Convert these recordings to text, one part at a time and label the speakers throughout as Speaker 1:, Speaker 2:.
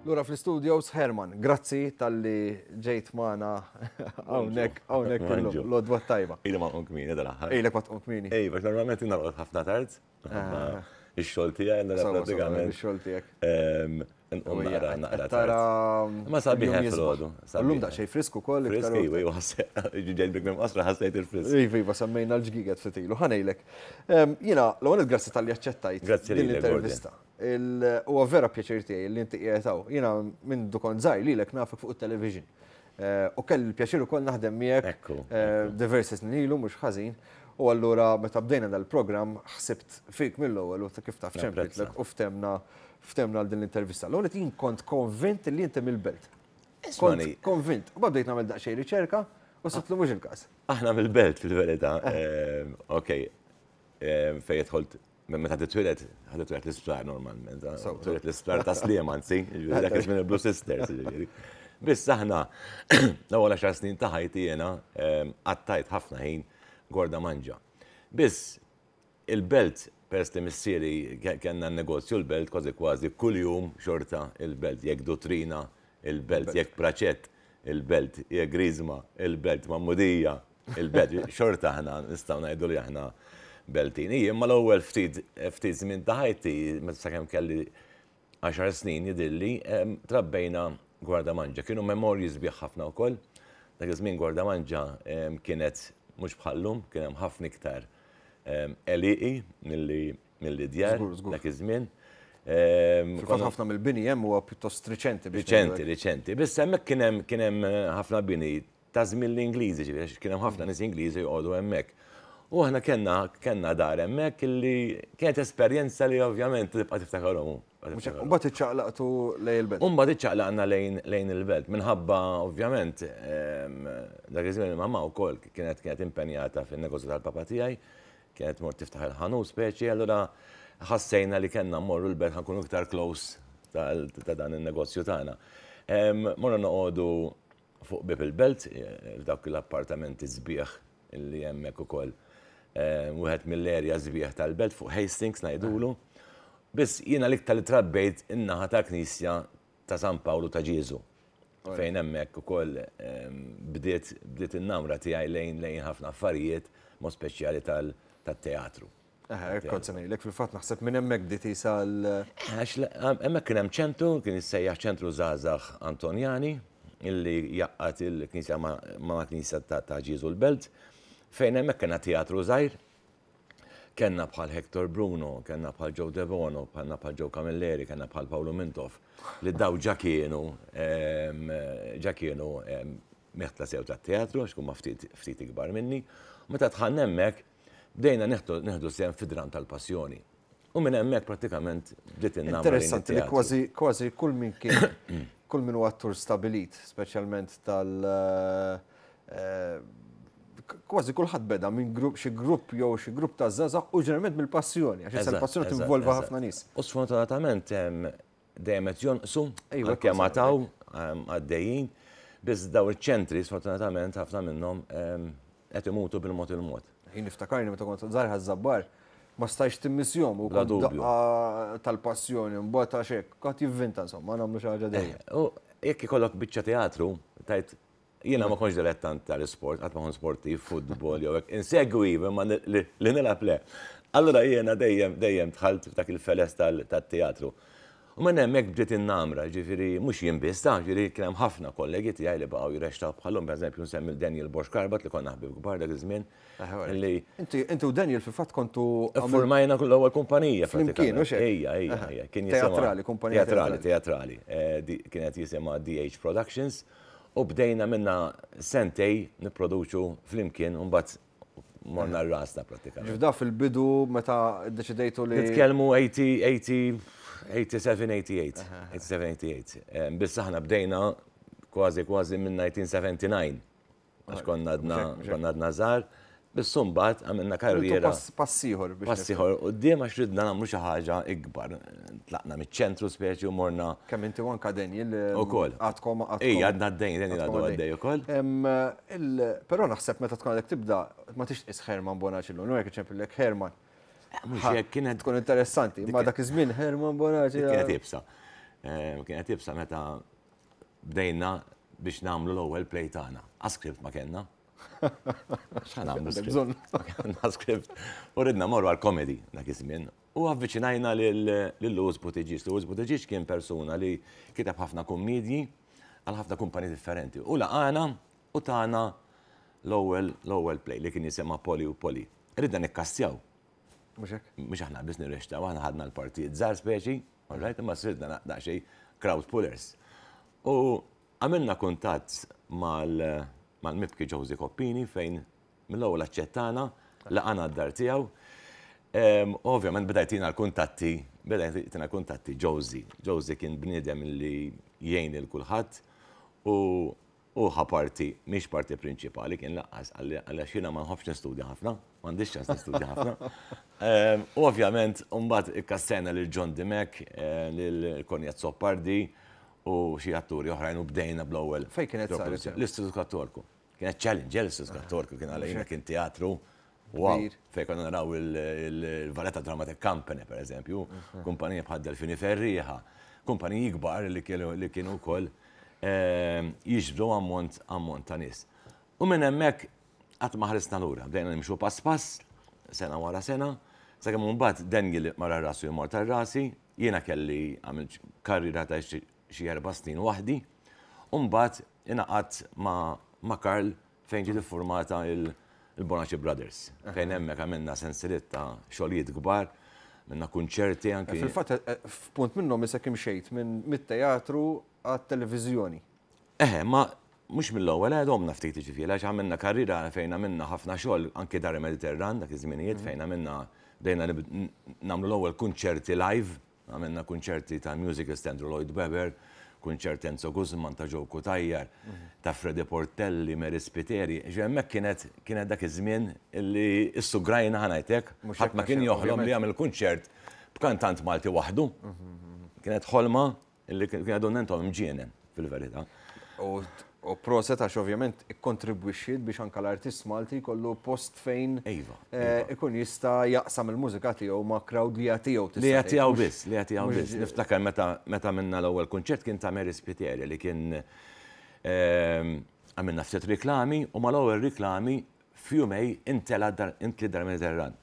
Speaker 1: Lura fl-studios, Herman, grazzi talli ġejt magħna hawnhekk hawnhekk illum. L-għodwa t-tajba.
Speaker 2: Ili ma nqum kmieni dal-aħħar.
Speaker 1: Ilek ma tqum kmieni.
Speaker 2: Ej, għax normalment jien norqod ħafna tard.
Speaker 1: Ah.
Speaker 2: Ix-xogħol tiegħi allura pratikament.
Speaker 1: Ix-xogħol tiegħek.
Speaker 2: Nqum naqra naqra.
Speaker 1: Tara.
Speaker 2: Ma sabiħ filgħodu.
Speaker 1: Illum daqsxejn frisk ukoll.
Speaker 2: Frisk iva, iva, ġejt bik minn qasra ħassejt il-frisk.
Speaker 1: Iva, iva, semmejna l-ġgiget ftit ilu. Ħa ngħidlek. Jiena l-ewwel grazzi talli aċċettajt din l-intervista. Huwa vera pjaċir tiegħi li inti qiegħed hawn. Jiena minn du kont żgħir lilek nafek fuq it-television. U kelli l-pjaċir ukoll naħdem miegħek diversi snin ilu mhux ħażin. U allura meta bdejna dal-programm ħsibt fik mill-ewwel u kif taf ċemplitlek u ftemna ftemna għal din l-intervista. L-ewwel jien kont konvint li inti mill-belt. Kont konvint. U bdejt nagħmel daqsxejn riċerka u sibt li mhux il-każ.
Speaker 2: Aħna mill-belt fil-verità. Ok, fejn dħolt Meta titwieled, ħa titwieled l-isptar normalment. Titwieled l-isptar ta' Sliema anzi, jiġifieri dak iż-żmien il-Blue Sisters, jiġifieri. Biss aħna l-ewwel għaxar snin ta' ħajti jiena qattajt ħafna ħin Gorda Manġa. Biss il-belt peress li missieri kellna n-negozju l-belt kważi kważi kuljum xorta il-belt jekk Dutrina, il-belt jekk Praċett, il-belt jekk Griżma, il-belt Magħmudija, Il-belt, xorta aħna nistgħu ngħidu li aħna beltin. Ija, imma l-ewwel ftit ftit żmien ta' ħajti, meta sakemm kelli għaxar snin jidhirli, trabbejna Gwardamanġa. Kienu memorji sbieħ ħafna wkoll. Dak iż-żmien Gwardamanġa kienet mhux bħal-lum, kien hemm ħafna iktar għelieqi milli milli djar dak iż-żmien.
Speaker 1: Fil-fatt ħafna mill-bini hemm huwa pjuttost riċenti.
Speaker 2: Riċenti, riċenti. Biss hemmhekk kien hemm kien hemm ħafna bini ta' żmien l-Ingliżi, ġifieri għax kien hemm ħafna nies Ingliżi joqogħdu hemmhekk. U aħna kellna kellna dar hemmhekk illi kienet esperjenza li ovvjament tibqa' tiftakarhom.
Speaker 1: Mbagħad iċċaqlaqtu lejn il-belt.
Speaker 2: U mbagħad iċċaqlaqna lejn lejn il-belt minħabba ovvjament dak iż-żmien il-mamà wkoll kienet kienet impenjata fin-negozju tal-papa tiegħi, kienet tmur tiftaħ il-ħanut speċi, allura ħassejna li kellna mmorru l-belt ħa nkunu iktar close ta' dan in-negozju tagħna. Morna noqogħdu Fuq bieb il-belt, f'dawk l-appartamenti sbieħ li hemmhekk ukoll, wieħed mill-area sbieħ tal-belt fuq Hastings ngħidulu. Biss jiena l-iktar li trabbejt in-naħa tal-Knisja ta' San Pawlu ta' Ġieżu. Fejn hemmhekk ukoll bdiet bdiet in-namra tiegħi lejn lejn ħafna affarijiet, mod speċjali tat-teatru.
Speaker 1: Eħe, kont se ngħidlek, fil-fatt naħseb minn hemmhekk bdiet isa l.
Speaker 2: Għax hemmhekk kien hemm ċentru, kien jissejjaħ Ċentru Żgħażagħ Antonjani, illi jgħaqqad il-knisja ma' knisja ta' Ġieżu l-Belt, fejn hemmhekk kellna teatru żgħir, kellna bħal Hector Bruno, kellna bħal Joe Debono, kellna bħal Joe Camilleri, kellna bħal Paolo Mintoff, li daw ġa kienu ġa kienu meħtla sew tat-teatru, għax huma ftit ftit ikbar minni. U meta dħalna hemmhekk, Bdejna nieħdu sehem fid-dramm tal-Passjoni. U minn hemmhekk prattikament bdiet in-namra.
Speaker 1: Interessanti li kważi kważi kull min kien kull min huwa attur stabilit, speċjalment tal eh, kważi kulħadd beda minn grupp xi grupp jew xi grupp ta' żgħażagħ u ġeneralment mill-passjoni, għax issa l-passjoni tinvolva ħafna nies.
Speaker 2: U sfortunatament dejjem qed jonqsu, għalkemm għad hawn għaddejjin, biss dawn iċ-ċentri sfortunatament ħafna minnhom qed imutu bil-mod il-mod.
Speaker 1: Jien niftakarni meta kont żgħir Ħaż-Żabbar ma stajtx timmissjhom u kont daqqa tal-passjoni mbagħad għax hekk, kulħadd jivvinta insomma nagħmlu xi ħaġa dejjem.
Speaker 2: U jekk ikollok biċċa teatru, tgħid Jiena ma kontx dilettant tal-isport, qatt ma kont sportiv, futbol jew hekk. Insegwi iva, imma li nilgħab le. Allura jiena dejjem dejjem dħalt f'dak il-feles tat-teatru. U minn hemmhekk bdiet in-namra, jiġifieri mhux jien biss, ta' jiġifieri kien hemm ħafna kollegi tiegħi li baqgħu jirreċtaw bħalhom, pereżempju nsemmi 'l Daniel Borg Karbat li konna ħbieb kbar dak iż-żmien.
Speaker 1: Li Inti inti u Daniel fil-fatt kontu
Speaker 2: Formajna l-ewwel kumpanija
Speaker 1: Flimkien, hux
Speaker 2: hekk? Ejja, ejja, ejja.
Speaker 1: Kien jisimha Teatrali, kumpanija
Speaker 2: teatrali. Teatrali, teatrali. Kienet jisimha DH Productions. U bdejna minna sentej nipproduċu flimkien u mbagħad morna rasna prattikament.
Speaker 1: Ġifda fil-bidu meta ddeċidejtu li.
Speaker 2: Nitkellmu 87, 88. 87, 88. Biss aħna bdejna kważi kważi minn 1979. Għax konna għadna konna għadna żgħar. Biss imbagħad għamilna karriera.
Speaker 1: Pass ieħor
Speaker 2: biex. Pass ieħor quddiem għax ridna nagħmlu xi ħaġa ikbar. Tlaqna miċ-ċentru speċi u morna.
Speaker 1: Kemm inti u anka Daniel.
Speaker 2: Ukoll.
Speaker 1: Għadkom
Speaker 2: għadkom. Ejja, għadna għaddejjin, Daniel għadu għaddej ukoll.
Speaker 1: Però naħseb meta tkun għadek tibda ma tix tqis Herman Bonaci llum, jekk iċempillek Herman.
Speaker 2: Mhux hekk kienet
Speaker 1: tkun interessanti, imma dak iż-żmien Herman Bonaci.
Speaker 2: Kienet iebsa. Kienet iebsa meta bdejna biex nagħmlu l-ewwel play tagħna. A script ma kellna. X'ħa nagħmlu script? Ma kellna script. U ridna morru għal comedy dak iż-żmien. U avviċinajna lil Louis Buttigieg. Louis Buttigieg kien persuna li kiteb ħafna kummedji għal ħafna kumpaniji differenti. U laqana u tana l-ewwel l-ewwel play li kien jisimha Polly u Polly. Ridna nikkastjaw.
Speaker 1: Mhux hekk?
Speaker 2: Mhux aħna biss nirrextaw, aħna ħadna l-partijiet żgħar speċi, all right, imma sirna daqsxejn crowd pullers. U għamilna kuntatt mal-mibki Josie Coppini fejn mill-ewwel aċċettana, laqana d-dar tiegħu. Ovvjament beda jtina l-kuntatti, beda jtina l-kuntatti Josie. Josie kien bniedem li jgħin lil kulħadd u hu ħa parti, mhix parti prinċipali kien laqqas, għaliex jiena ma nħobbx nistudja ħafna, m'għandix ċans nistudja ħafna. U ovvjament mbagħad ikkassejna lil John Dimech, lil Connie Azzopardi u xi atturi oħrajn u bdejna bl-ewwel.
Speaker 1: Fejn kienet saret?
Speaker 2: L-Istitut Kattolku. Kienet challenge, eh, l-Istitut Kattolku kien għalina kien teatru. Wow, fejn konna naraw il-Valletta Dramatic Company, per eżempju, kumpanija bħal Delfini Ferrieħa, kumpaniji kbar li kienu wkoll ehm, jiġbdu ammont ammont ta' nies. U minn hemmhekk qatt ma ħarisna lura, bdejna nimxu pass pass, sena wara sena, sakemm imbagħad Daniel mara rasu jmur tar-rasi, jiena kelli għamilt karriera ta' xi erba' snin waħdi, u mbagħad ingħaqadt ma' Karl fejn ġiet iffurmata il-Bonaci Brothers, fejn hemmhekk għamilna sensiliet ta' xogħlijiet kbar, għamilna kunċerti anki.
Speaker 1: Fil-fatt, f'punt minnhom isek imxejt minn mit-teatru għat-televiżjoni.
Speaker 2: Eħe, ma mhux mill-ewwel, eh, domna ftit jiġifieri għax għamilna karriera fejn għamilna ħafna xogħol anki Dar il-Mediterran dak iż-żminijiet fejn għamilna bdejna nagħmlu l-ewwel kunċerti live. Għamilna kunċerti ta' musicals ta' Andrew Lloyd Webber, kunċert Enzo Guzman ta' Joe Cutajar, ta' Freddie Portelli, Mary Spiteri. Ġifieri hemmhekk kienet kienet dak iż-żmien li issugrajna ħa ngħid hekk, ħadd ma kien joħlom li jagħmel kunċert b'kantant Malti waħdu. Kienet ħolma Illi kien għadu nentom imġienen, fil-verità.
Speaker 1: U proset għax ovvjament ikkontribwixxiet biex anka l-artist Malti jkollu post fejn
Speaker 2: iva,
Speaker 1: eh, iva. ikun jista' jaqsam il-mużika tiegħu ma' crowd li jagħtiegħu
Speaker 2: Li jagħtiegħu biss, li jagħtiegħu biss. Niftakar meta meta minna l-ewwel kunċert kien ta' Mary Spiteri li kien ehm, għamilna ftit riklami u mal-ewwel riklami f'jumej intela intli dar Mediterran.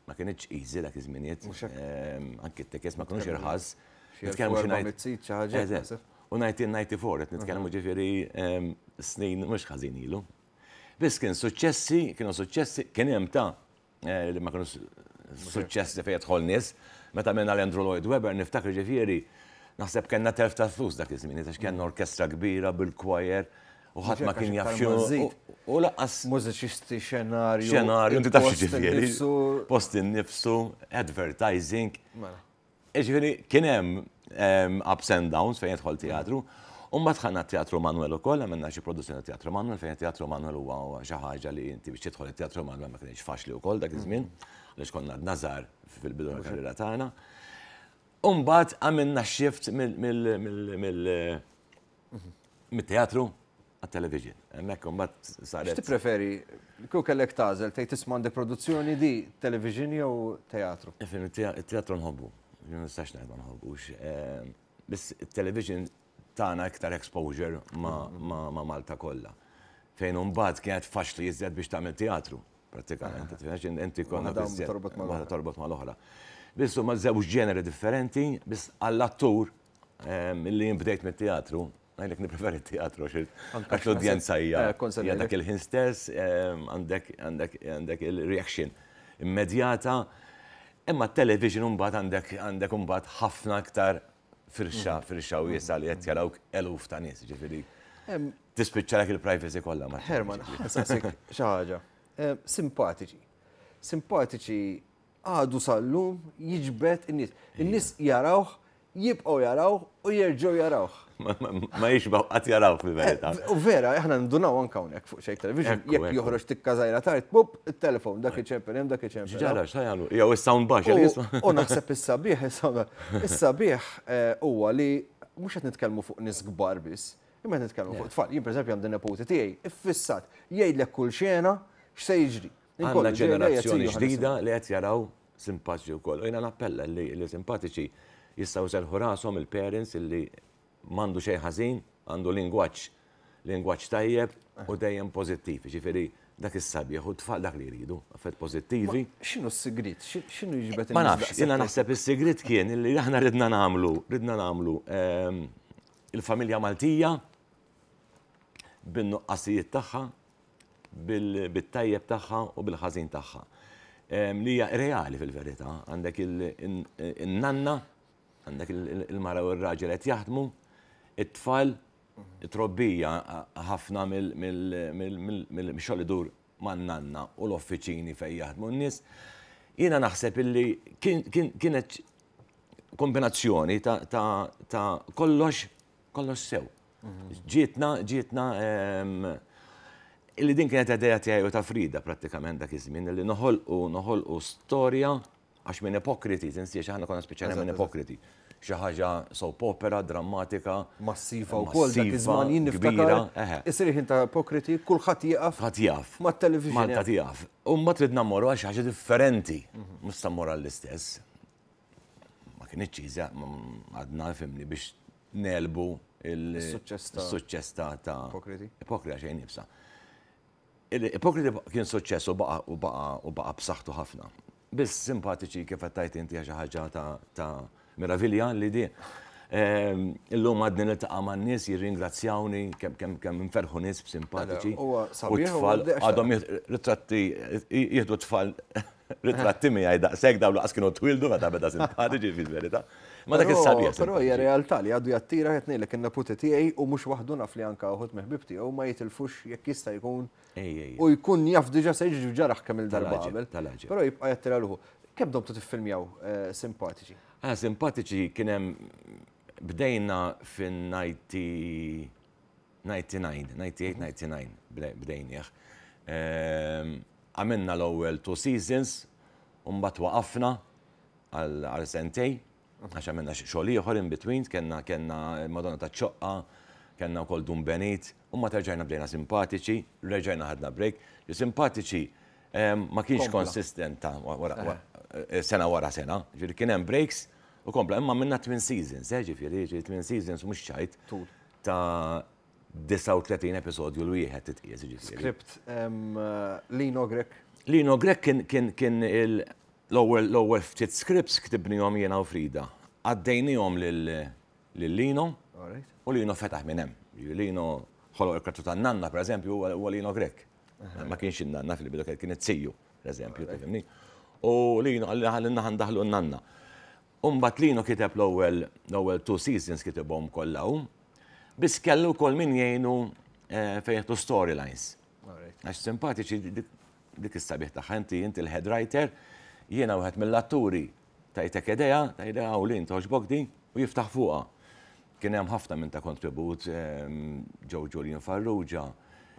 Speaker 2: Ma kinitx easy dak iż-żminijiet. Ehm, anki t-tickets ma kinux irħas.
Speaker 1: Nitkellmu xi ngħid.
Speaker 2: U 1994 qed nitkellmu ġifieri ehm, snin mhux ħażin ilu. Biss kien suċċessi, kienu suċċessi, kien hemm ta' eh, li ma kienu suċċessi fejn jidħol nies. Meta minna l-Andrew Lloyd Webber niftakar ġifieri naħseb kellna telf ta' flus dak iż-żmien, għax kellna orkestra kbira bil-choir, U ħadd ma kien jaf x'inhu. U
Speaker 1: lanqas. Mużiċisti, xenarju.
Speaker 2: Xenarju, inti taf x'ġifieri. Post innifsu, advertising. Mela. Ġifieri kien hemm ehm, ups and downs fejn jidħol teatru. U mbagħad ħanna Teatru Manuel ukoll, għamilna xi produzzjoni Teatru Manuel, fejn Teatru Manuel huwa xi ħaġa li inti biex tidħol it-Teatru Manuel ma kienx faċli wkoll dak iż-żmien, għaliex konna għadna żgħar fil-bidu tal-karriera tagħna. U mbagħad għamilna shift mill Mit-teatru għat-television. Hemmhekk imbagħad
Speaker 1: saret. X'tippreferi? Kieku kellek tagħżel tgħid isma' għandek produzzjoni di television jew teatru?
Speaker 2: Ifhem, it-teatru nħobbu. Ma nistax ngħid ma nħobbux. Ehm, biss it-television tagħna iktar exposure ma' Malta kollha. Fejn imbagħad kienet faċli iżjed biex tagħmel teatru, prattikament. Inti konna torbot mal-oħra. Biss huma żewġ ġeneri differenti, biss għall-attur Milli jien bdejt mit-teatru, ngħidlek nippreferi t-teatru għax l-udjenza hija eh, dak il-ħin stess, għandek għandek għandek il-reaction immedjata. Imma t-television mbagħad għandek għandek mbagħad ħafna aktar firxa, mm. firxa wiesa li qed jarawk eluf ta' nies, ġifieri. Tispiċċalek il-privacy kollha ma.
Speaker 1: Herman, ħansaqsik xi ħaġa. Simpatiċi. Simpatiċi għadu sal-lum jiġbed in-nies. In-nies jarawh, jibqgħu jarawh u jerġgħu jarawh.
Speaker 2: Ma jixbgħu qatt jarawh fil-verità.
Speaker 1: Eh, u vera, aħna ndunaw anke hawnhekk fuq xejn television, jekk joħroġ tikka żgħira tard, pup, it-telefon, dak iċempel hemm, dak iċempel.
Speaker 2: Ġara, x'ta jagħmlu? Jew is-sound baxx.
Speaker 1: U naħseb is-sabiħ, is-sabiħ eh, huwa li mhux qed nitkellmu fuq nies kbar biss, imma qed nitkellmu fuq tfal. Jien pereżempju għandi neputi tiegħi, iffissat, jgħidlek kull xena x'se jiġri.
Speaker 2: Għandna ġenerazzjoni ġdida li qed jaraw simpatiċi wkoll. U jiena nappella li simpatiċi jistgħu jserrħu rashom il-parents illi m'għandu xejn ħażin, għandu lingwaġġ lingwaġġ tajjeb u dejjem pożittiv. Jiġifieri dak is-sabiħ u t-tfal dak li jridu, affarijiet pożittivi.
Speaker 1: X'inhu s-sigriet? X'inhu jiġbed
Speaker 2: Ma nafx, jiena naħseb is-sigriet kien illi aħna ridna nagħmlu, ridna nagħmlu ehm, il-familja Maltija bin-nuqqasijiet tagħha, bit-tajjeb tagħha u bil-ħażin tagħha. Ehm, li hija reali fil-verità, għandek il-nanna, għandek il-mara u r-raġel qed jaħdmu, it-tfal, it-trobbija ħafna mill-xogħol idur man-nanna u l-offiċini fejn jaħdmu n-nies. Jiena naħseb illi kienet kombinazzjoni ta' kollox kollox sew. Ġietna, ġietna, ehm, illi din kienet idea tiegħi u ta' Frida prattikament dak iż-żmien li noħolqu noħolqu storja għax minn ipokriti, tinsiex aħna konna spiċċajna minn ipokriti. Xi ħaġa soap opera, drammatika.
Speaker 1: Massiva wkoll dak iż-żmien jien niftakar. Isir ħin ta' ipokriti, kulħadd jieqaf.
Speaker 2: Ħadd jaf.
Speaker 1: Mat-television.
Speaker 2: Malta tieqaf. U mbagħad ridna mmorru għal xi ħaġa differenti. Mhux sa mmorru għall-istess. Ma kinitx easy, għadna fimni biex negħlbu
Speaker 1: il-suċċess
Speaker 2: ta' Ipokriti. Ipokriti xejn nibsa. Ipokriti kien suċċess u baqa u baqa u baqa b'saħħtu ħafna. Biss simpatiċi kif qed tgħid inti xi ħaġa ta' meravilja li di. Ehm, illum għadni niltaqa' man-nies jirringrazzjawni kemm kemm kemm inferħu nies b'simpatiċi.
Speaker 1: U
Speaker 2: tfal għadhom ritratti jieħdu tfal Ritratti miegħi daqshekk dawn laqas kienu twildu meta beda simpatiċi fil-verità. Ma dak is-sabiħ.
Speaker 1: Però hija realtà li għadu jattira qed ngħidlek in-neputi tiegħi u mhux waħdu naf li anke uħud mill-ħbieb tiegħu ma jitilfux jekk jista' jkun u jkun jaf diġà se jiġri ġaraħ kemm il-darba qabel. Però jibqa' jattira ruħu. Kemm domtu tiffilmjaw eh, simpatiċi?
Speaker 2: Ah, simpatiċi kien hemm bdejna fin-90 99, 98, 99 bdejnieh. Ehm, għamilna l-ewwel two seasons, u mbagħad waqafna għal sentej, għax għamilna xogħol ieħor in between, kellna kellna Madonna ta' ċoqqa, kellna wkoll Dun Benit, u ma terġajna bdejna simpatiċi, reġajna ħadna break. Li simpatiċi ehm, ma kienx konsistenta eh, sena wara sena, ġifieri kien hemm breaks u kompla imma minna twin seasons, eh, ġifieri twin seasons mhux ċajt. Ta' 39 episodju l-wieħed titqies
Speaker 1: ġifieri. Script Lino Grech.
Speaker 2: Lino Grech kien kien kien l-ewwel l-ewwel ftit scripts ktibnihom jiena u Frida. Għaddejnihom lil lil Lino u Lino fetaħ minn hemm. Lino ħoloq il-karattru tan-nanna pereżempju huwa Lino Grech. Ma kienx in-nanna fil-bidu kien it-tiju, pereżempju, tifhimni. U Lino qalli ħalli naħa ndaħlu n-nanna. U mbagħad Lino kiteb l-ewwel l-ewwel two seasons kitibhom kollha hu. Biss kellu wkoll min jgħinu eh, fejn jieħdu storylines. Għax simpatiċi dik is-sabiħ tagħha inti inti l-head writer, jiena wieħed mill-atturi tajtek idea, ta' idea u lin toġbok di u jiftaħ fuqha. Kien hemm ħafna minn ta' kontribut ehm, Joe Julian Farrugia,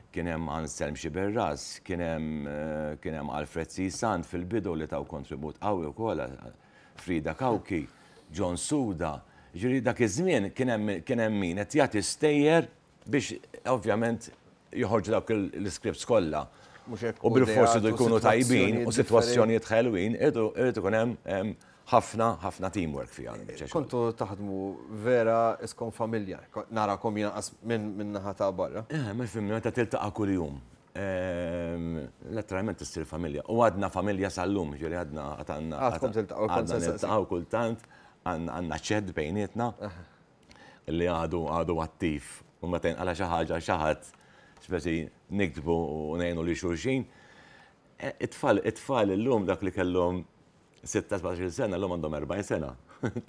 Speaker 2: kien hemm Anselm Xiberras, kien hemm eh, kien hemm Alfred C. Sant fil-bidu li taw kontribut qawwi wkoll Frida Cauchi, John Suda, jiġifieri dak iż-żmien kien hemm kien hemm min qed jagħti stejjer biex ovvjament joħorġu dawk l-iscripts kollha. U bilfors iridu jkunu tajbin u sitwazzjonijiet ħelwin, irid ikun hemm ħafna ħafna teamwork fiha.
Speaker 1: Kontu taħdmu vera iskom familja, narakom jiena qas minn naħa ta' barra.
Speaker 2: Eh, ma fimni meta tiltaqa' kuljum. Letteralment issir familja. U għadna familja sal-lum, ġifieri għadna għadna.
Speaker 1: Għadkom tiltaqgħu
Speaker 2: għadna niltaqgħu kultant, għandna chat bejnietna li għadu għadu attiv. U meta jinqala xi ħaġa xi ħadd speċi niktbu u ngħinu li xulxin. E, it-tfal, it-tfal illum dak li kellhom 16 sena, l-lum għandhom 40 sena.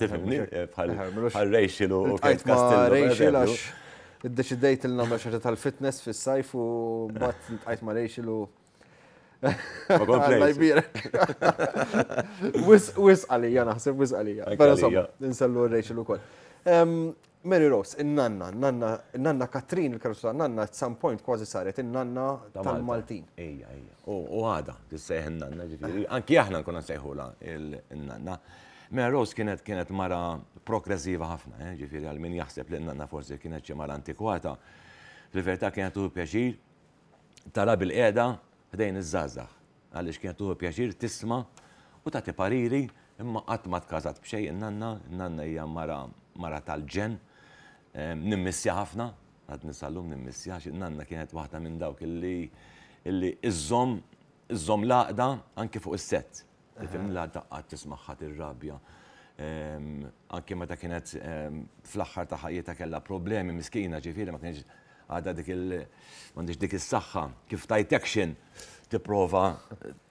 Speaker 2: Tifhimni? Eh, bħal Rachel u
Speaker 1: Kate Castillo. Rachel għax iddeċidejt il nagħmel xi tal-fitness fis-sajf u mbagħad ltqajt ma' Rachel u
Speaker 2: Alla
Speaker 1: jbierek. Wis wis għalija naħseb wis għalija. Però insomma, insellu Rachel ukoll. Mary Rose, in-nanna, nanna, nanna Katrin, il-karozza ta' nanna, at some point kważi saret in-nanna tal-Maltin.
Speaker 2: Ejja, ejja. U għada, tissejħ in-nanna ġifieri. Anki aħna nkunu nsejħula il-nanna. Mary Rose kienet kienet mara progressiva ħafna, eh, ġifieri għal min jaħseb li n-nanna forsi kienet xi mara antikwata. Fil-verità kienet tuħu pjaċir tara bil-qiegħda ħdejn iż-żgħażagħ. Għaliex kienet tuħu pjaċir tisma' u tagħti pariri. Imma qatt ma tkażat b'xejn in-nanna, in-nanna hija mara mara tal-ġenn. Nimmissja ħafna, għadni sal-lum nimmissja għax in-nanna kienet waħda minn dawk illi illi iżżomm iżżomm l-għaqda anke fuq is-sett. Tifhem la daqqa tismagħha tirrabja. Anke meta kienet fl-aħħar ta' ħajjitha kellha problemi miskina ġifieri ma kienx għadha dik il m'għandix dik is-saħħa kif tajt action tipprova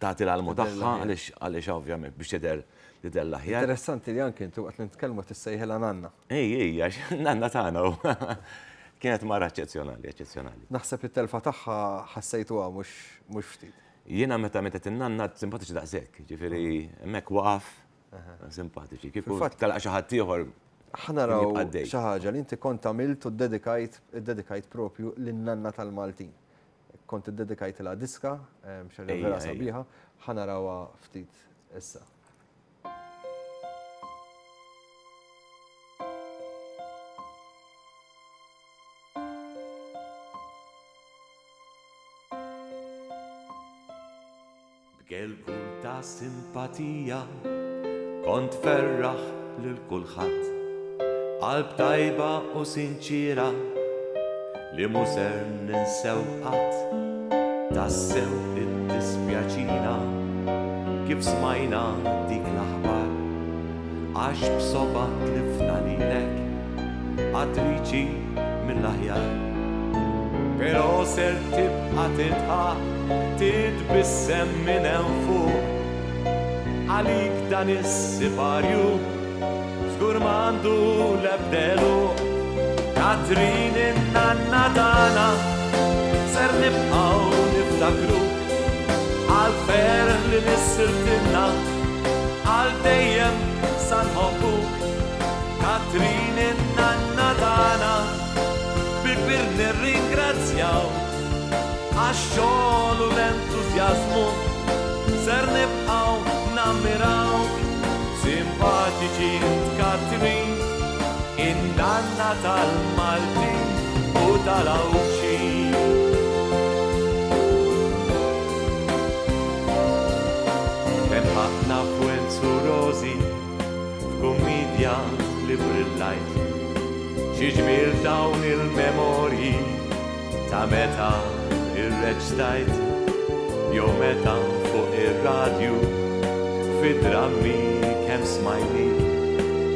Speaker 2: tagħti l-almu tagħha għaliex għaliex ovvjament biex tidher tidher l-aħjar.
Speaker 1: Interessanti li anke inti waqt li nitkellmu tissejħilha nanna.
Speaker 2: Ej, ej, għax nanna tagħna. Kienet mara eċċezzjonali, eċċezzjonali.
Speaker 1: Naħseb it-telfa tagħha ħassejtuha mhux ftit.
Speaker 2: Jiena meta mietet in-nanna simpatiċi daqshekk, ġifieri hemmhekk waqaf simpatiċi. Kieku telaq xi ħadd ieħor.
Speaker 1: Ħa naraw xi ħaġa li inti kont għamilt u ddedikajt iddedikajt propju lin-nanna tal-Maltin. Kont iddedikajtilha diska, xi ħaġa vera sabiħa, ħa narawha ftit issa.
Speaker 2: B'gelgul ta' simpatija kont tferraħ lil kulħadd. Qalb tajba u sinċiera li mhu ser ninsew qatt. Tassew iddispjaċina kif smajna dik l-aħbar. Għax b'sobgħa tlifna lilek, attriċi mill-aħjar. Però ser tibqa' tidħaq, titbissem minn hemm fuq. Għalik dan is-siparju żgur m'għandu l-ebda għeluq. Katrin in-nanna tagħna ser nibqgħu niftakruk għall-ferħ li nissiltilna. Għal dejjem sa nħobbuk Katrin in-nanna tagħna Bil-kbir nirringrazzjaw Għax-xogħol u l-entużjażmu Ser nibqgħu nammirawk Simpatiċi int Katrin In-nanna tal-Maltin u tal-Għawdxin. Kemm ħadna f'Wenzu Rosi f'kummidja li brillajt. Xi ġmiel dawn il-memorji ta' meta irreċtajt jew meta fuq ir-radju fid-drammi kemm smajnik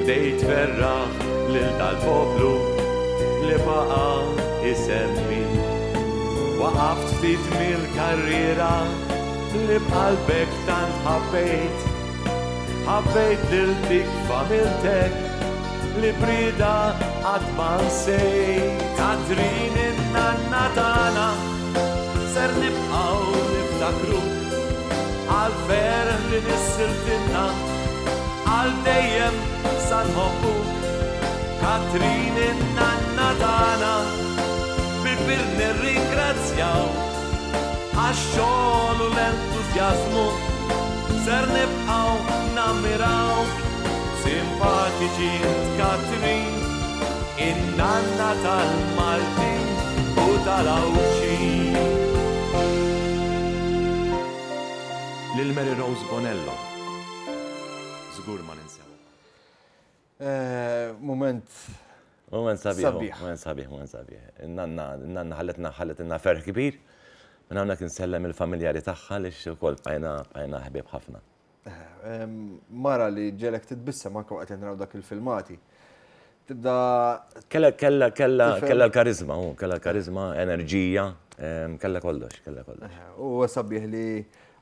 Speaker 2: bdejt tferraħ lil dal-poplu li baqa' isemmik. Waqaft ftit mill-karriera li b'qalbek tant ħabbejt. Ħabbejt lil dik familtek li b'rieda qatt ma nsejt. Katrin in-nanna tagħna ser nibqgħu niftakruk għall-ferħ li nissiltilna għal dejjem sa nħobbuk. Katrin in-nanna tagħna bil-kbir nirringrazzjaw għax-xogħol u l-entużjażmu ser nibqgħu nammirawk. Simpatiċi int Katrin, in-nanna tal-Maltin u tal-Għawdxin. Lil Mary Rose Bonello żgur ma ninsewha.
Speaker 1: Mument.
Speaker 2: Mument sabiħ. Mument sabiħ, mument sabiħ. Nanna, nanna ħalletna ħalletilna ferħ kbir. Minn hawnhekk insellem il-familjari tagħha li wkoll bqajna bqajna ħbieb ħafna.
Speaker 1: Mara li ġelek titbissem anke waqt li naraw dak il-filmati. Tibda.
Speaker 2: Kella kella kella kella l-karizma, kella l-karizma, enerġija, kella kollox, kella kollox.
Speaker 1: U sabiħ li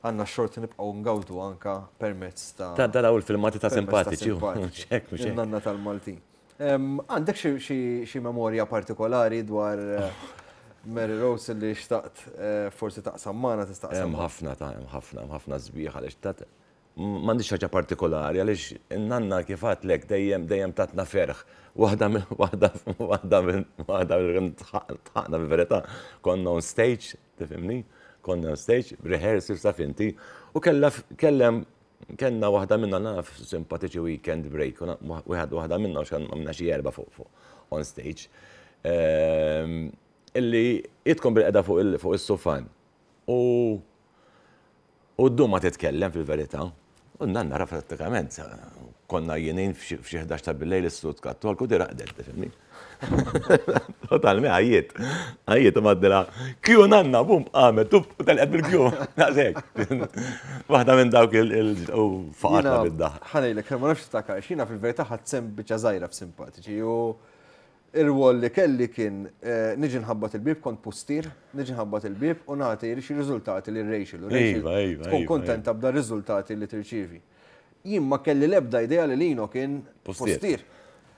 Speaker 1: Għandna x-xorti nibqgħu ngawdu anka permezz ta'
Speaker 2: Ta' daraw il-filmati ta' simpatiċi. Mhux hekk, mhux
Speaker 1: hekk. Nanna tal-Maltin. Għandek xi memorja partikolari dwar Mary Rose li xtaqt forsi taqsam magħna tista' taqsam?
Speaker 2: Hemm ħafna ta' hemm ħafna, hemm ħafna sbieħ għaliex ta' m'għandix ħaġa partikolari għaliex in-nanna kif għedtlek dejjem dejjem tatna ferħ. Waħda waħda waħda waħda tħaqna fil-verità konna on stage Tifhimni? Konna on stage, rehearsals taf inti, u kellha kellem kellna waħda minna naf simpatiċi weekend break, wieħed waħda minna għax għamilna xi erba' fuq fuq on stage. Ehm, illi tkun bil-qeda fuq is-sufan. U u ddum ma titkellem fil-verità. U n-nanna ra prattikament, konna jienin f'xi 11 ta' billejl is-sud kattolku di raqdet, tifhimni. Totalmi għajjiet. Għajjiet u maddila, kju nanna, bum, għamet, tup, u telqet bil-kju. Daqshekk. Waħda minn dawk il faqatna bid-daħ.
Speaker 1: Ħanejlek, ma nafx takar, xina fil-verità ħadd sem biċċa żgħira f'simpatiċi u Ir-rwol li kelli kien niġi nħabbat il-bieb, kont pustier, niġi nħabbat il-bieb u nagħti xi riżultati lil Rachel. U Rachel tkun kuntenta b'dar riżultati li tirċievi. Jien ma kelli l-ebda idea li Lino kien pustier.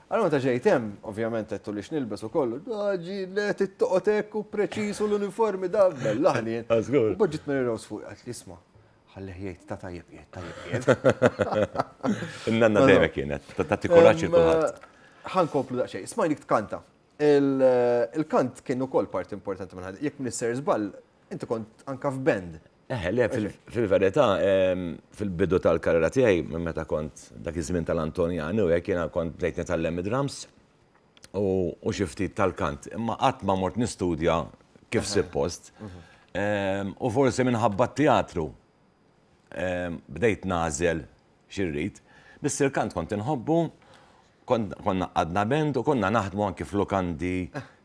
Speaker 1: Allura meta ġejt hemm, ovvjament għedtu li x'nilbes u kollu, ġi le tittoqgħod hekk u preċiż u l-uniformi da bellaħni. U ġiet Mary Rose fuq għedt li isma' ħallih jgħid ta' tajjeb qiegħed, tajjeb qiegħed.
Speaker 2: In-nanna dejjem kienet, tagħti kuraġġ lil kulħadd.
Speaker 1: Ħa nkomplu daqsxejn. Smajnik tkanta. Il-kant kien ukoll parti importanti minn ħajtek. Jekk m'iniex ser żball, inti kont anka f'band.
Speaker 2: Eħe, le, fil-verità, fil-bidu tal-karriera tiegħi, minn meta kont dak iż-żmien tal-Antonjani u hekk jiena kont bdejt nitgħallem id-drums u xi ftit tal-kant. Imma qatt ma mort nistudja kif suppost. U forsi minħabba t-teatru bdejt nagħżel xi rrid. Biss il-kant kont inħobbu, konna għadna band u konna naħdmu anki f'lukandi,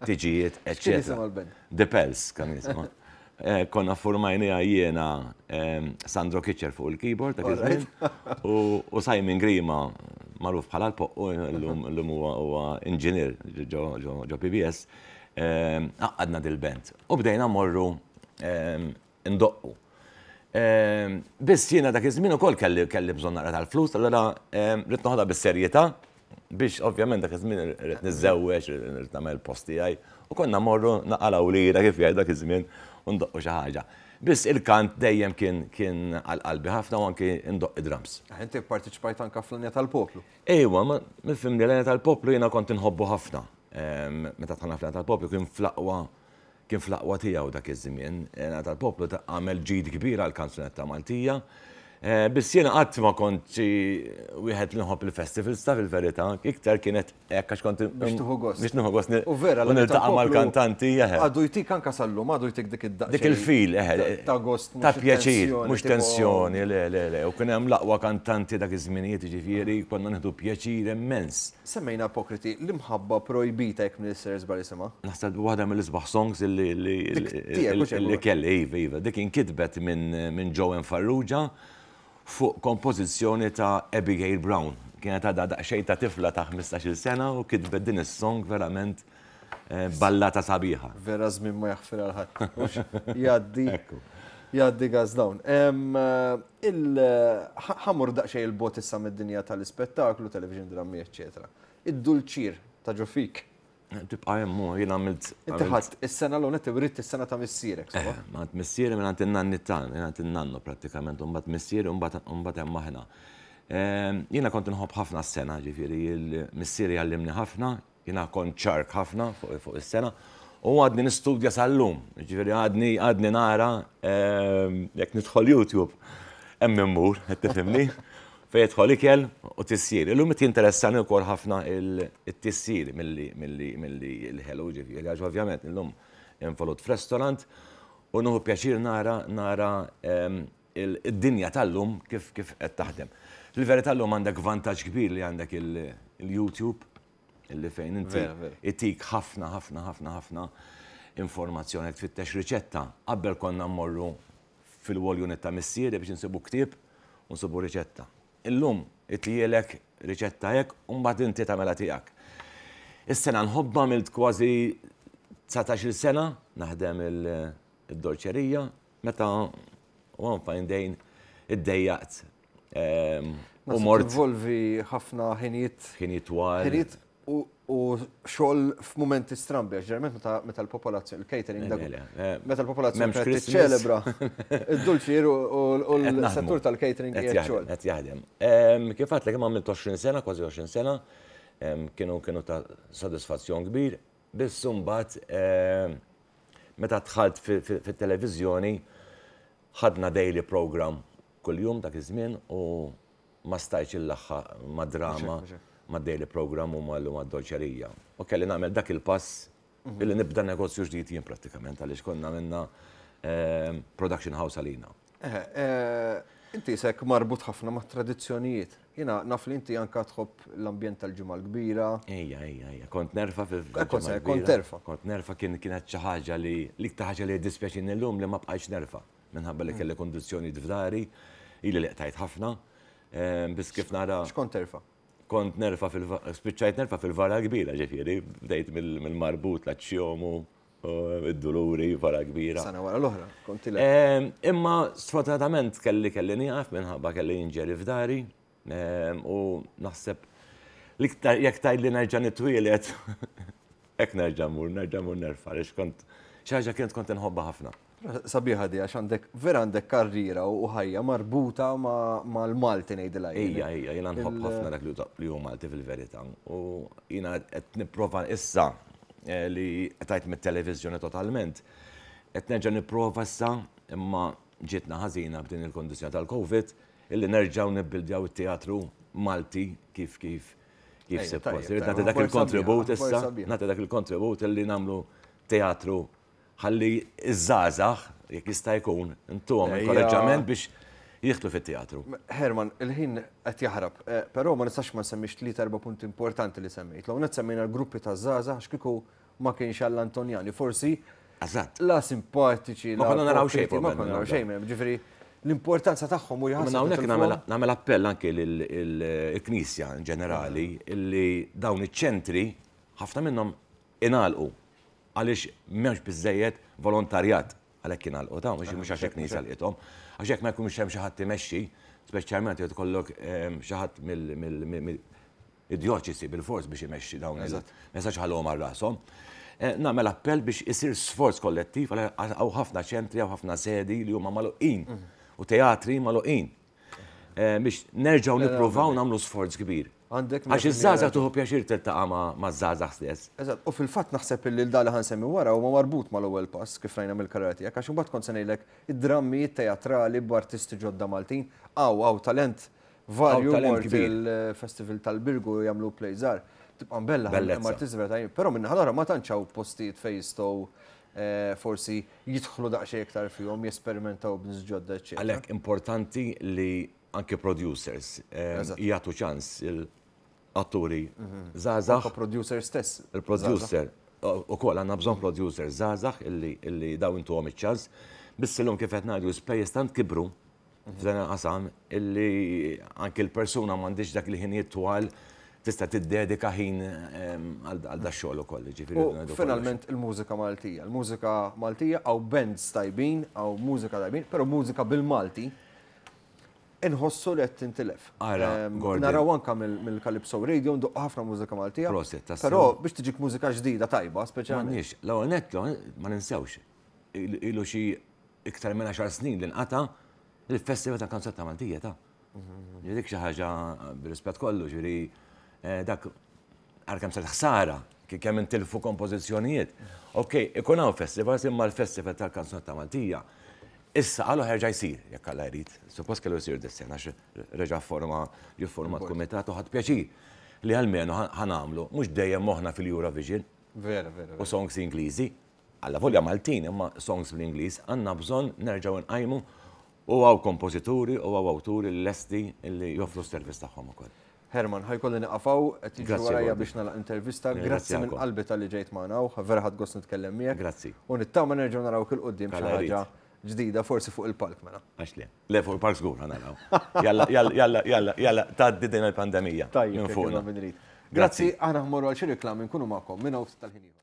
Speaker 2: tiġijiet,
Speaker 1: eċċetera.
Speaker 2: The Pels kan jisimha. Konna formajniha jiena Sandro Kitcher fuq il-keyboard dak iż-żmien u Simon Grima magħruf bħala l-Poqqu llum huwa inġinier ġo PBS. Għaqqadna dil-band u bdejna mmorru ndoqqu. Biss jiena dak iż-żmien ukoll kelli kelli bżonn naqra tal-flus, allura ridt noħodha bis-serjetà biex ovvjament dak iż-żmien ridt niżżewweġ, ridt nagħmel post tiegħi u konna mmorru naqalgħu lira kif jgħid dak iż-żmien u ndoqqu xi ħaġa. Biss il-kant dejjem kien kien għal qalbi ħafna u anki ndoqq id-drums.
Speaker 1: Inti pparteċipajt anke fl-Għanja tal-Poplu.
Speaker 2: Ejwa, ma nifhimni l-Għanja tal-Poplu jiena kont inħobbu ħafna. Meta dħalna fl-Għanja tal-Poplu kien fl-aqwa Kien fl-aqwa tiegħu dak iż-żmien. L-Għana tal-Poplu għamel ġid kbir għall-kanzunetta Maltija. Biss jiena qatt ma kont xi wieħed li nħobb il-festivals ta' fil-verità, iktar kienet hekk għax kont
Speaker 1: Biex tieħu gost.
Speaker 2: Biex nieħu gost.
Speaker 1: U vera
Speaker 2: u niltaqa' mal-kantanti, eħe.
Speaker 1: Għadu jtik anke sal-lum, għadu jtik dik id-daqsxejn.
Speaker 2: Dik il-feel, eħe.
Speaker 1: Ta' gost.
Speaker 2: Ta' pjaċir, mhux tensjoni, le, le, le. U kien hemm l-aqwa kantanti dak iż-żminijiet, jiġifieri konna nieħdu pjaċir immens.
Speaker 1: Semmejna Apokriti, l-imħabba projbita jekk m'iniex ser żball isimha.
Speaker 2: Naħseb waħda mill-isbaħ songs illi illi kelli, iva, iva. Dik inkitbet minn Joanne Farrugia fuq kompożizzjoni ta' Abigail Brown. Kienet għadha daqsxejn ta' tifla ta' 15-il sena u kitbet din is-song verament ballata sabiħa.
Speaker 1: Vera żmien ma jaħfir għal ħadd. Jgħaddi. Jgħaddi gas dawn. Ħa mmur daqsxejn 'il bogħod issa mid-dinja tal-ispettaklu, television drammi, eċċetera. Id-dulċier ta' ġo fik.
Speaker 2: Tibqa' hemm hu, jien għamilt.
Speaker 1: Inti ħadt is-sena l-ewwel nett writt is-sena ta' missierek, sewwa?
Speaker 2: Eh, mingħand missieri mingħand in-nanni tagħna, mingħand in-nannu prattikament, u mbagħad missieri u mbagħad hemm aħna. Jiena kont inħobb ħafna s-sena, ġifieri missieri għallimni ħafna, Jiena kont ċark ħafna fuq is-sena u għadni nistudja sal-lum. Ġifieri għadni għadni nara jekk nidħol YouTube hemm immur, qed tifhimni? Fejn jidħol ikel u tisjir. Illum qed jinteressani wkoll ħafna it-tisjir milli milli milli l-ħelu ġifieri għax ovvjament illum involut f'restaurant u nieħu pjaċir nara nara id-dinja tal-lum kif kif qed taħdem. Fil-verità llum għandek vantaġġ kbir li għandek il-YouTube illi fejn inti itik ħafna ħafna ħafna ħafna informazzjoni jekk tfittex riċetta. Qabel konna mmorru fil-wall unit ta' missieri biex insibu ktieb u nsibu riċetta. Illum itlielek riċetta hekk u mbagħad inti tagħmilha tiegħek. Is-sena nħobbha għamilt kważi 19-il sena naħdem id-dolċerija meta one fine day iddejjaqt
Speaker 1: u mort. Involvi ħafna ħinijiet.
Speaker 2: Ħinijiet twal.
Speaker 1: Ħinijiet u xogħol f'mumenti strambi, għax ġeneralment meta l-popolazzjoni, il-catering dak. Meta l-popolazzjoni qed tiċċelebra id-dulċier u l-settur tal-catering
Speaker 2: qiegħed xogħol. Qed jaħdem. Kif għedtlek imma għamilt 20 sena, kważi 20 sena, kienu kienu ta' sodisfazzjon kbir, biss imbagħad meta dħalt fit-televiżjoni ħadna daily program kuljum dak iż-żmien u ma stajtx illaħħaq mad-drama, mad-daily program u mad-dolċerija. U kelli nagħmel dak il-pass illi nibda negozju ġdid jien prattikament għaliex konna għamilna production house għalina.
Speaker 1: Inti isek marbut ħafna mat-tradizzjonijiet. Jiena naf li inti anka tħobb l-ambjent tal-Ġimgħa l-Kbira.
Speaker 2: Ejja, ejja, ejja. Kont nerfa fil-Ġimgħa
Speaker 1: Kont kont terfa.
Speaker 2: Kont nerfa kien kienet xi ħaġa li l-iktar ħaġa li jiddispjaċini llum li ma bqajtx nerfa. Minħabba li kelli kundizzjonijiet f'dari, ili li qtajt ħafna. Biss kif nara.
Speaker 1: X'kont terfa?
Speaker 2: Kont nerfa fil spiċċajt nerfa fil-vara kbira, ġifieri, bdejt mill-marbut l-aċċjomu, id-duluri, vara kbira.
Speaker 1: Sena wara l-oħra, kont tilek.
Speaker 2: Imma sfortunatament kelli kelli nieqaf minħabba kelli injury f'dari u naħseb l-iktar jekk tgħidli nerġa' nitwieled hekk nerġa' mmur, nerġa' mmur nerfa' għaliex kont xi ħaġa kienet kont inħobbha ħafna.
Speaker 1: Sabiħa di għax għandek vera għandek karriera u ħajja marbuta mal-Malti ngħidilha
Speaker 2: jien. Ejja, ejja, jiena nħobb ħafna dak li hu Malti fil-verità. U jiena qed nipprova issa eh, li qtajt mit-televiżjoni totalment, qed nerġa' nipprova issa imma ġietna ħażina b'din il-kondizzjoni tal-Covid illi nerġgħu nibbildjaw it-teatru Malti kif kif kif suppost. Irrid nagħti dak il-kontribut issa, nagħti dak il-kontribut illi nagħmlu teatru Ħalli ż-żgħażagħ, jekk jista' jkun, intuhom inkoraġġament biex jidħlu fit-teatru.
Speaker 1: Herman, il-ħin qed jaħrab, però ma nistax ma nsemmix tlieta erba' punti importanti li semmejt. L-ewwel nett semmejna l-gruppi taż-żgħażagħ għax kieku ma kienx għall-Antonjani forsi la simpatiċi,
Speaker 2: la. Ma konna naraw xejn.
Speaker 1: Ma konna naraw xejn, ġifieri l-importanza tagħhom u
Speaker 2: jħassru. Hawnhekk nagħmel appell anke lill-Knisja in ġenerali illi dawn iċ-ċentri ħafna minnhom ingħalqu Għaliex m'hemmx biżżejjed volontarjat għalhekk jingħalqu ta' mhux mhux għax il-Knisja lqithom. Għax jekk ma jkunx hemm xi ħadd imexxi, speċjalment jekk ikollok ehm, xi ħadd mill-djoċesi bilfors biex imexxi dawn il Ma jistax ħalluhom għal rashom. Eh, nagħmel appell biex isir sforz kollettiv għal hawn ħafna ċentri, hawn ħafna sedi li huma magħluqin mhm. u teatri magħluqin. Eh, biex nerġgħu nippruvaw nagħmlu sforz kbir.
Speaker 1: Għandek
Speaker 2: Għax iż-żgħażagħ tuħu pjaċir tiltaqa' maż-żgħażagħ stess.
Speaker 1: Eżatt, u fil-fatt naħseb illi l-da li ħansemmi wara huwa marbut mal-ewwel pass kif rajna mill-karriera tiegħek għax imbagħad kont se ngħidlek id-drammijiet teatrali b'artisti ġodda Maltin hawn hawn talent varju mort il-Festival tal-Birgu jagħmlu play żgħar. Tibqa' mbella hemm artisti vera tajjeb, però min-naħa l-oħra ma tantx hawn postijiet fejn jistgħu eh, forsi jidħlu daqsxejn iktar fihom, jesperimentaw b'nies ġodda, eċċetera.
Speaker 2: Għalhekk importanti li anke producers eh, jagħtu ċans il-atturi mhm. żgħażagħ.
Speaker 1: Anke producer stess.
Speaker 2: Il-producer ukoll għandna bżonn producer żgħażagħ illi daw intuhom iċ-ċans. Biss illum kif qed ngħidu l-ispejjeż tant kibru f'dan il-qasam illi anke l-persuna m'għandix dak il-ħinijiet twal tista' tiddedika ħin ehm, għal da xogħol ukoll.
Speaker 1: U finalment il-mużika Maltija. Il-mużika Maltija hawn bands tajbin, hawn mużika tajbin, però mużika bil-Malti inħossu li qed tintilef.
Speaker 2: Ara, ehm,
Speaker 1: Naraw anka mill-Calypso Radio nduqqu ħafna mużika Maltija.
Speaker 2: Proset,
Speaker 1: Però biex tiġik mużika ġdida tajba, speċjalment.
Speaker 2: M'għandniex, l-ewwel nett ma ninsewx. Ilu xi iktar minn 10 snin li nqata' il-Festival ta' Kanzunetta Maltija ta' Dik xi ħaġa bir-rispett kollu, ġifieri eh, dak għal kemm sar ħsara, kemm intilfu kompożizzjonijiet. Ok, ikun hawn festivals imma l-Festival tal-Kanzunetta Maltija issa qalu ħerġa jsir, jekk Alla jrid. Suppost kellu jsir dis-sena għax reġa' forma ġie kumitat u ħadd pjaċir li almenu ħanamlu mhux dejjem moħħna fil-Eurovision.
Speaker 1: Vera, vera.
Speaker 2: U songs Ingliżi. Allavolja Maltin imma songs bl-Ingliż għandna bżonn nerġgħu nqajmu u hawn kompożituri u hawn awturi li lesti li joffru s-servizz tagħhom ukoll.
Speaker 1: Herman, ħa jkolli nieqaf hawn, qed jiġru warajja biex nagħlaq intervista. Grazzi minn qalbi talli ġejt magħna hawn, vera ħadt gost nitkellem miegħek.
Speaker 2: Grazzi.
Speaker 1: U nittama nerġgħu narawk 'il quddiem b'xi ħaġa ġdida forsi fuq il-palk mela.
Speaker 2: Għax le. Le fuq il-palk żgur ħa naraw. Jalla, jalla, jalla, jalla, jalla, tgħaddi din il-pandemija.
Speaker 1: Tajjeb, minn fuqna. Grazzi, aħna ħmorru għal xi riklami nkunu magħkom minn hawn ftit tal-ħin ieħor.